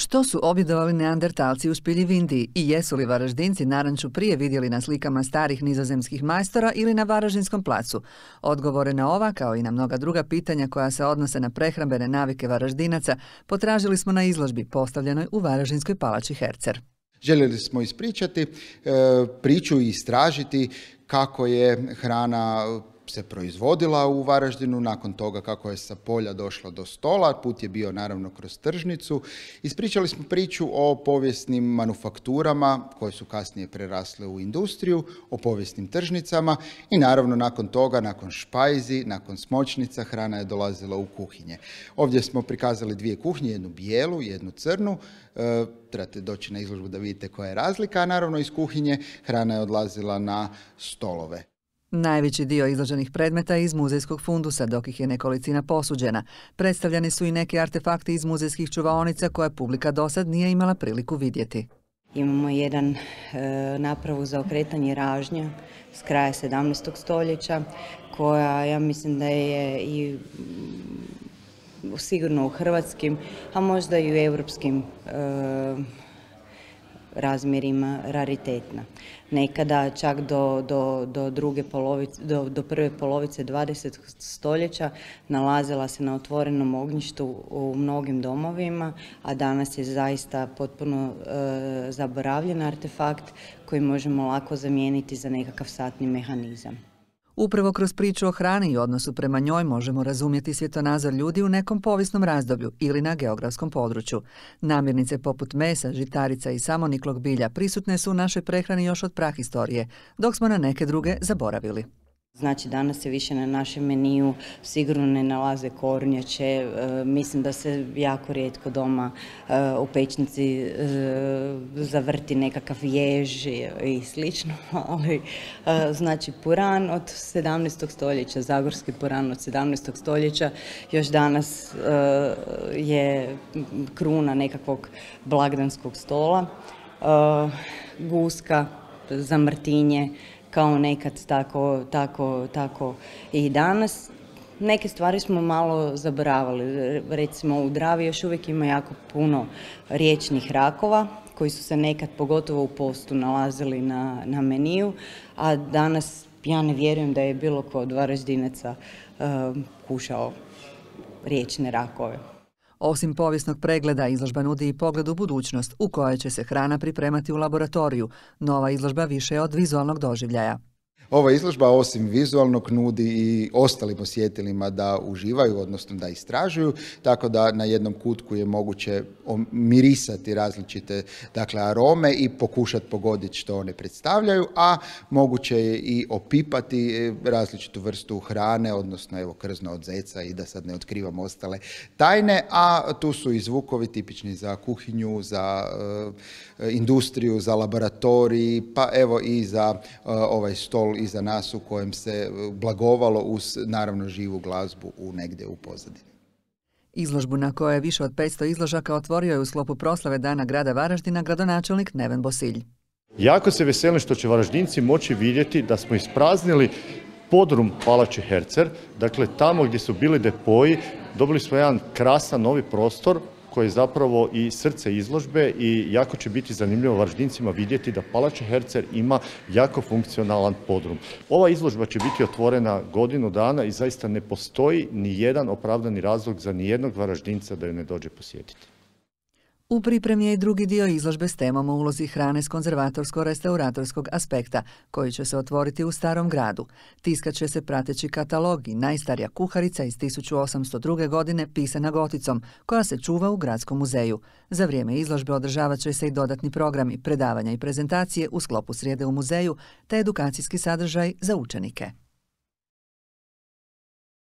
Što su objedovali neandertalci u Špilji v Indiji i jesu li Varaždinci naranču prije vidjeli na slikama starih nizozemskih majstora ili na Varaždinskom placu? Odgovore na ova, kao i na mnoga druga pitanja koja se odnose na prehrambene navike Varaždinaca, potražili smo na izložbi postavljenoj u Varaždinskoj palači Hercer. Željeli smo ispričati priču i istražiti kako je hrana se proizvodila u Varaždinu, nakon toga kako je sa polja došla do stola, put je bio naravno kroz tržnicu. Ispričali smo priču o povijesnim manufakturama koje su kasnije prerasle u industriju, o povijesnim tržnicama i naravno nakon toga, nakon špajzi, nakon smočnica, hrana je dolazila u kuhinje. Ovdje smo prikazali dvije kuhinje, jednu bijelu, jednu crnu. Trebate doći na izložbu da vidite koja je razlika, a naravno iz kuhinje hrana je odlazila na stolove. Najveći dio izloženih predmeta je iz muzejskog fundusa, dok ih je nekolicina posuđena. Predstavljeni su i neki artefakti iz muzejskih čuvaonica koje publika dosad nije imala priliku vidjeti. Imamo jedan napravu za okretanje ražnja s kraja 17. stoljeća, koja ja mislim da je i sigurno u hrvatskim, a možda i u europskim razmjerima raritetna. Nekada čak do prve polovice 20. stoljeća nalazila se na otvorenom ognjištu u mnogim domovima, a danas je zaista potpuno zaboravljen artefakt koji možemo lako zamijeniti za nekakav satni mehanizam. Upravo kroz priču o hrani i odnosu prema njoj možemo razumjeti svjetonazor ljudi u nekom povijesnom razdoblju ili na geografskom području. Namirnice poput mesa, žitarica i samoniklog bilja prisutne su u našoj prehrani još od prahistorije, dok smo na neke druge zaboravili. Znači, danas se više na našem meniju sigurno ne nalaze kornjače, mislim da se jako rijetko doma u pećnici zavrti nekakav jež i slično, ali znači puran od 17. stoljeća, zagorski puran od 17. stoljeća, još danas je kruna nekakvog blagdanskog stola, guska za Martinje, kao nekad, tako i danas. Neke stvari smo malo zaboravili. Recimo u Dravi još uvijek ima jako puno riječnih rakova koji su se nekad, pogotovo u postu, nalazili na meniju, a danas ja ne vjerujem da je bilo ko od Varaždinaca kušao riječne rakove. Osim povijesnog pregleda, izložba nudi i pogled u budućnost u kojoj će se hrana pripremati u laboratoriju. Nova izložba više je od vizualnog doživljaja. Ova izložba osim vizualnog nudi i ostalim osjetilima da uživaju, odnosno da istražuju, tako da na jednom kutku je moguće mirisati različite arome i pokušati pogoditi što one predstavljaju, a moguće je i opipati različitu vrstu hrane, odnosno krzno od zeca i da sad ne otkrivam ostale tajne, a tu su i zvukovi tipični za kuhinju, za industriju, za laboratorij, pa evo i za ovaj stol iza nas u kojem se blagovalo uz naravno živu glazbu negdje u pozadini. Izložbu na kojoj je više od 500 izložaka otvorio je u sklopu proslave Dana grada Varaždina gradonačelnik Neven Bosilj. Jako se veselim što će Varaždinci moći vidjeti da smo ispraznili podrum palače Hercer, dakle tamo gdje su bili depoji, dobili smo jedan krasan novi prostor koji je zapravo i srce izložbe i jako će biti zanimljivo Varaždincima vidjeti da palača Hercer ima jako funkcionalan podrum. Ova izložba će biti otvorena godinu dana i zaista ne postoji ni jedan opravdani razlog za nijednog Varaždinca da ju ne dođe posjetiti. U pripremi je i drugi dio izložbe s temom o ulozi hrane s konzervatorsko-restauratorskog aspekta, koji će se otvoriti u Starom gradu. Tiskat će se prateći katalog i najstarija kuharica iz 1802. godine pisana goticom, koja se čuva u Gradskom muzeju. Za vrijeme izložbe održavat će se i dodatni programi, predavanja i prezentacije u sklopu srijede u muzeju, te edukacijski sadržaj za učenike.